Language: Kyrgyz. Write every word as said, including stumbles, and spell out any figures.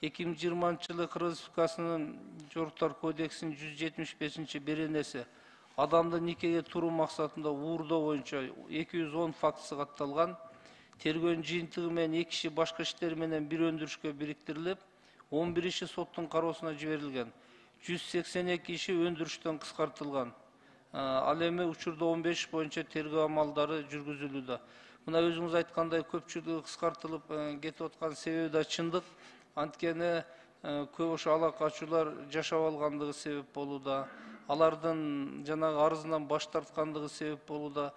эки миң жыйырманчы жылы Кыргыз Республикасынын Жоруктар кодексинин жүз жетимиш бешинчи беренеси адамды никеге туруу максатында уурдоо боюнча эки жүз он фактысы катталган. Тергөөнүн жыйынтыгы менен эки киши башка иштер менен бир өндүрүшкө бириктирилип, он бир иши соттун кароосуна жиберилген. жүз сексен эки иши өндүрүштөн кыскартылган. Ал эми учурда он беш иш боюнча тергөө амалдары жүргүзүлүүдө. Мына өзүңүз айткандай көпчүлүгү кыскартылып кетип аткан себеби да чындык. Анткени көп ошо ала качуулар жашап алгандыгы себеп болууда. Алардын жанагы арызынан баш тарткандыгы себеп болууда.